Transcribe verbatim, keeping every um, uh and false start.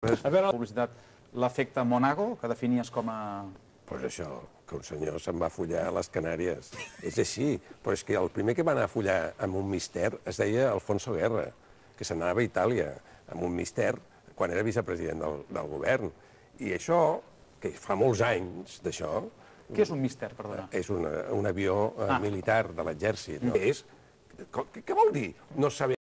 A veure, la publicitat, l'efecte Monago, que definies com a... Pues això, que un senyor se'n va follar a les Canàries. És així, però és que el primer que va anar a follar amb un mister es deia Alfonso Guerra, que se n'anava a Itàlia amb un mister quan era vicepresident del, del govern. I això, que fa molts anys d'això... Què és un mister, perdona? És una, un avió eh, Ah. militar de l'exèrcit. No. És... Què vol dir? No saber